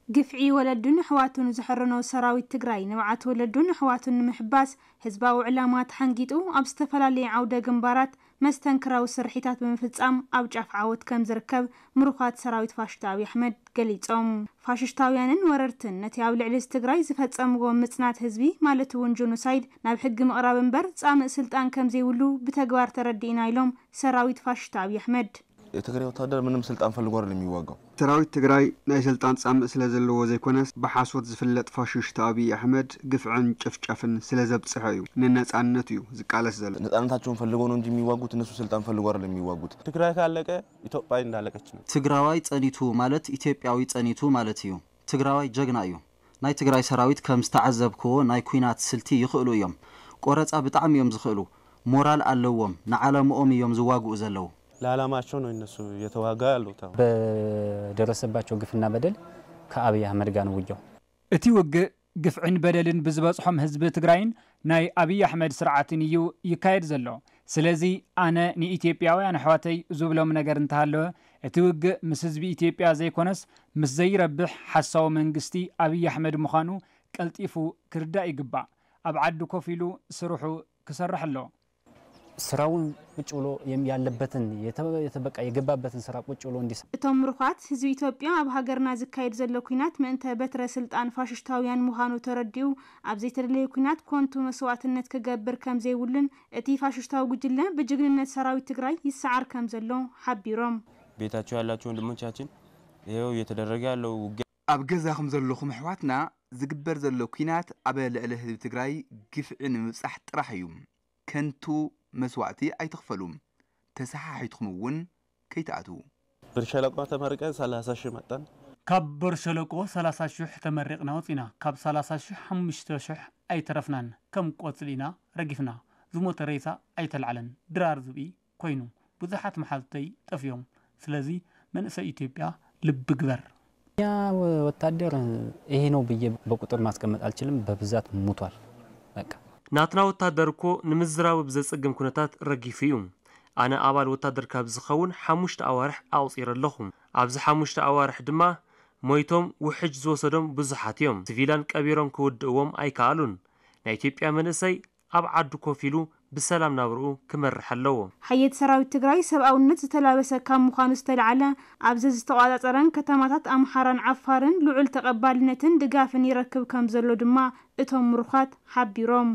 ግፍዒ ወለዱን ኣሕዋቱን ዝሕረኖ ሰራዊት ትግራይ፣ ንብዓት ወለዱን ኣሕዋቱን ንምሕባስ ህዝባዊ ዕላማ ተሓንጊጡ ኣብ ዝተፈላለየ ዓውደ ግንባራት መስተንክራዊ ስርሒታት ብምፍጻም ኣብ ጫፍ ዓወት ከም ዝርከብ ምሩኻት ሰራዊት ፋሽስት ኣብይ ኣሕመድ ገሊጾም። ፋሽስታውያንን ወረርትን ነቲ ኣብ ልዕሊ ትግራይ ዝፈጸምዎ ምጽናት ህዝቢ፣ ማለት እውን ጆኖሳይድ፣ ናብ ሕጊ ምቕራብ እምበር ጻምእ ስልጣን ከም ዘይብሉ ብተግባር ተረዲእና ኢሎም ሰራዊት ፋሽስት ኣብይ ኣሕመድ። የትግራይ ወታደር ምንም ስልጣን ፈልጎ አይደለም የሚዋጋው። ሰራዊት ትግራይ ናይ ስልጣን ጻምእ ስለ ዘለዎ ዘይኮነስ፣ ብሓሶት ዝፍለጥ ፋሽስት ኣብይ ኣሕመድ ግፍዕን ጭፍጨፍን ስለ ዘብጽሐ እዩ ንነጻነት እዩ ዝቃለስ ዘሎ። ነጻነታቸውን ፈልገው ነው እንጂ የሚዋጉት፣ እነሱ ስልጣን ፈልጎ አይደለም የሚዋጉት። ትግራይ ካለቀ ኢትዮጵያ እንዳለቀች ነው። ትግራዋይ ጸኒቱ ማለት ኢትዮጵያዊ ጸኒቱ ማለት እዩ። ትግራዋይ ጀግና እዩ። ናይ ትግራይ ሰራዊት ከም ዝተዓዘብክዎ ናይ ኲናት ስልቲ ይኽእሉ እዮም። ቆረጻ ብጣዕሚ እዮም ዝኽእሉ። ሞራል ኣለዎም። ንዓላምኦም እዮም ዝዋግኡ ዘለዉ። ለዓላማቸው ነው እነሱ እየተዋጋ ያሉት። አሁን በደረሰባቸው ግፍና በደል ከአብይ አህመድ ጋር ነው ውጊያው። እቲ ውግእ ግፍዕን በደልን ብዝበጽሖም ህዝቢ ትግራይን ናይ ኣብይ ኣሕመድ ስርዓትን እዩ ይካየድ ዘሎ። ስለዚ ኣነ ንኢትዮጵያውያን ኣሕዋተይ ዝብሎም ነገር እንተሃለወ፣ እቲ ውግእ ምስ ህዝቢ ኢትዮጵያ ዘይኮነስ ምስ ዘይረብሕ ሓሳዊ መንግስቲ ኣብይ ኣሕመድ ምዃኑ ቀልጢፉ ክርዳእ ይግባእ። ኣብ ዓዲ ኮፍ ኢሉ ስርሑ ክሰርሕ ኣለዎ። ስራውን ቁጭ ብሎ የም- ያለበትን የተ- የተ- በቃ የገባበትን ስራ ቁጭ ብሎ እንዲሰራ እቶም ምሩኻት፣ ህዝቢ ኢትዮጵያ ኣብ ሃገርና ዝካየድ ዘሎ ኲናት ምእንተ በትረ ስልጣን ፋሽስታውያን ምዃኑ ተረዲኡ፣ ኣብ ዘይተደለየ ኲናት ኮንቱ መስዋእትነት ክገብር ከም ዘይብሉን እቲ ፋሽስታዊ ጉጅለ ብጅግንነት ሰራዊት ትግራይ ይሰዓር ከም ዘሎ ሓቢሮም። ቤታቸው ያላቸው ወንድሞቻችን ይኸው እየተደረገ ያለው ውጊያ ኣብ ገዛኹም ዘለኹም ኣሕዋትና ዝግበር ዘሎ ኲናት ኣብ ልዕሊ ህዝቢ ትግራይ ግፍዒ ንምብጻሕ ጥራሕ እዩ። ከንቱ መስዋእቲ ኣይትኽፈሉ። ተሰሓሒትኩም እውን ከይትኣትዉ። ብር ሸለቆ ተመርቀን ሰላሳ ሺህ መጣን። ካብ በርሸለቆ ሰላሳ ሽሕ ተመሪቕና ወፂና። ካብ ሰላሳ ሽሕ ሓሙሽተ ሽሕ ኣይተረፍናን። ከም ቆፅሊ ኢና ረጊፍና። ዝሞተ ሬሳ ኣይተልዓለን። ድራር ዝብኢ ኮይኑ። ብዙሓት መሓዙተይ ጠፍዮም። ስለዚ መንእሰይ ኢትዮጵያ ልቢ ግበር። እኛ ወታደር ይሄ ነው ብዬ በቁጥር ማስቀመጥ አልችልም። በብዛት ሙቷል። በቃ ናትና ወታደር እኮ ንምዝራቡ ብዘጸግም ኩነታት ረጊፉ እዩ። ኣነ ኣባል ወታደር ካብ ዝኸውን ሓሙሽተ ኣዋርሕ ኣቑጺረ ኣለኹ። ኣብዚ ሓሙሽተ ኣዋርሕ ድማ ሞይቶም ውሕጅ ዝወሰዶም ብዙሓት እዮም። ሲቪላን ቀቢሮም ክውድእዎም ኣይከኣሉን። ናይ ኢትዮጵያ መንእሰይ ኣብ ዓዱ ኮፍ ኢሉ ብሰላም ናብርኡ ክመርሕ ኣለዎ። ሓየት ሰራዊት ትግራይ ሰብኣውነት ዝተላበሰ ካብ ምዃኑ ዝተልዓለ ኣብዚ ዝተቋጻጸረን ከተማታት ኣምሓራን ዓፋርን ልዑል ተቐባልነትን ድጋፍን ይረክብ ከም ዘሎ ድማ እቶም ምሩኻት ሓቢሮም።